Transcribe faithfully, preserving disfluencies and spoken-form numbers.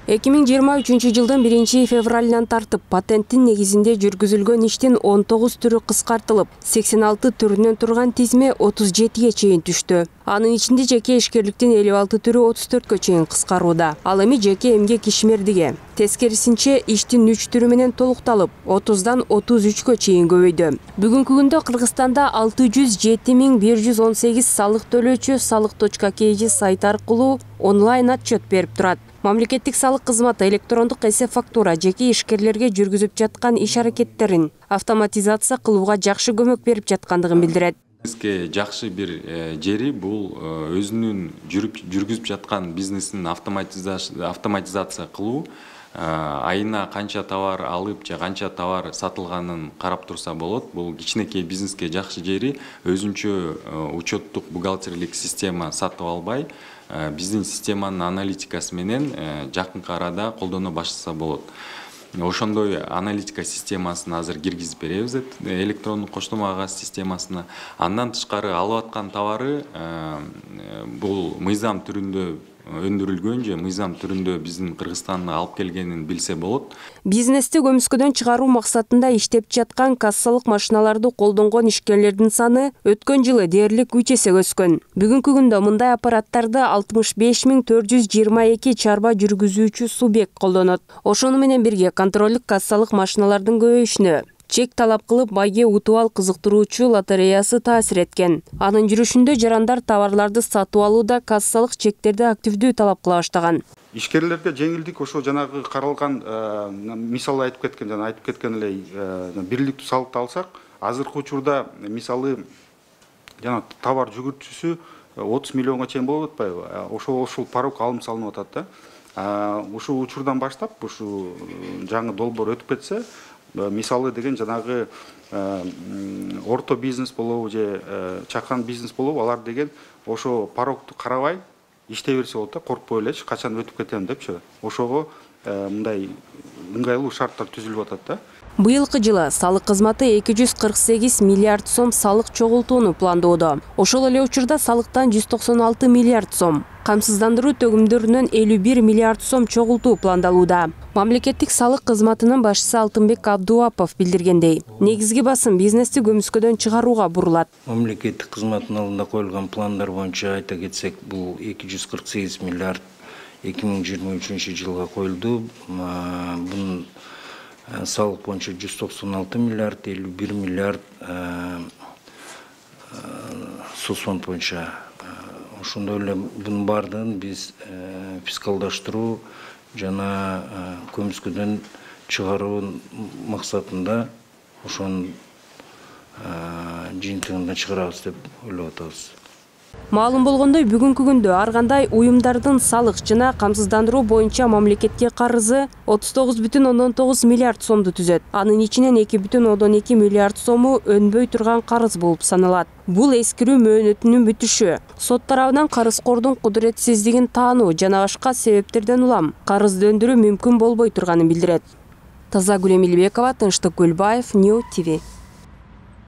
эки миң жыйырма үчүнчү жылдын биринчи февралынан тартып патенттин негизинде жүргүзүлгөн иштин он тогуз түрү кыскартылып, сексен алты түрүнөн турган тизме отуз жетиге чейин түштү. Анын ичинде жеке ишкерликтин элүү алты түрү отуз төрткө чейин кыскарууда. Ал эми жеке эмгек ишмердиги. Тескерисинче иштин үч түрү менен толукталып, отуздан отуз үчкө чейин көбөйдү. Бүгүнкү күндө Кыргызстанда алты жүз жети миң бир жүз он сегиз салык төлөөчү салык точка kg сайт аркылуу онлайн отчет берип турат. Мамлекеттик салык кызматы электрондук эсеп фактура жеке ишкерлерге жүргүзүп жаткан иш аракеттерин автоматизация кылууга жакшы көмөк берип жаткандыгын билдирет. Бизге жакшы бир жери бул өзүнүн жүргүзүп жаткан бизнесин автоматизация кылуу. Айына канча товар алып же канча товар сатылганын карап турса болот. Бул кичинекей бизнеске жакшы жери өзүнчө учеттук бухгалтерлик система сатып албай, биздин системанын аналитикасы менен жакынкы арада колдоно баштаса болот. Ошондой аналитика системасын азыр киргизип беребиз электрондук коштомо кагаз системасына. Андан тышкары алып аткан товары бул мыйзам түрүндө өндүрүлгөн же мыйзам түрүндө биздин Кыргызстанга алып келгенин билсе болот. Бизнести көмүскөдөн чыгаруу максатында иштеп жаткан кассалык машиналарды колдонгон ишкерлердин саны өткөн жылы дээрлик үч эсе өскөн. Бүгүнкү күндө мындай аппараттарды алтымыш беш миң төрт жүз жыйырма эки чарба жүргүзүүчү субъект колдонот. Ошону менен бирге контролдук кассалык машиналардын көбөйүшүнө чек талап кылып байге утуп ал кызыктыруучу лотереясы таасир эткен. Анын жүрүшүндө жарандар товарларды сатып алууда кассалык чектерди активдүү талап кыла баштаган. Ишкерлерге жеңилдик ошо жанагы каралган мисалы айтып кеткен жана айтып кеткен эле бирликтүү салыкты алсак, азыркы учурда мисалы жана товар жүгүртүүсү отуз миллионго чейин болуп атпайбы? Ошол ошол порог алым салынып атат да. Ушул учурдан баштап ушу жаңы долбоор өтүп кетсе, мисалы деген жанагы орто бизнес болобу же чакан бизнес болобу, алар деген ошо порогду карабай иштей берсе болот да, коркпой элечи качан өтүп кетем депчи. Ошого мындай ыңгайлуу шарттар түзүлүп атат да. Быйылкы жылы салык кызматы эки жүз кырк сегиз миллиард сом салык чогултууну пландоодо. Ошол эле учурда салыктан жүз токсон алты миллиард сом, камсыздандыруу төгүмдөрүнөн элүү бир миллиард сом чогултуу пландалууда. Мамлекеттик салык кызматынын башчысы Алтынбек Абдуапов билдиргендей, негизги басым бизнести көмүскөдөн чыгарууга бурулат. Мамлекеттик кызматтын алдында коюлган пландар боюнча айта кетсек, бул эки жүз кырк сегиз миллиард эки миң жыйырма үчүнчү жылга коюлду. Бунун салык боюнча жүз токсон алты миллиард, элүү бир миллиард соцфонд боюнча. Ошондой эле бунун баардыгын биз фискалдаштыруу жана көмүскөдөн чыгаруу максатында ошонун жыйынтыгында чыгарабыз деп ойлоп атабыз. Маалым болгондой, бүгүнкү күндө ар кандай уюмдардын салык жана камсыздандыруу боюнча мамлекетке карызы отуз тогуз бүтүн ондон тогуз миллиард сомду түзөт. Анын ичинен эки бүтүн ондон эки миллиард сому өнбөй турган карыз болуп саналат. Бул эскирүү мөөнөтүнүн бүтүшү, сот тарабынан карызкордун кудуретсиздигин таануу жана башка себептерден улам карызды өндүрүү мүмкүн болбой турганын билдирет. Тазагүл Эмилбекова, Тынчтык Гүлбаев, Нью ти ви.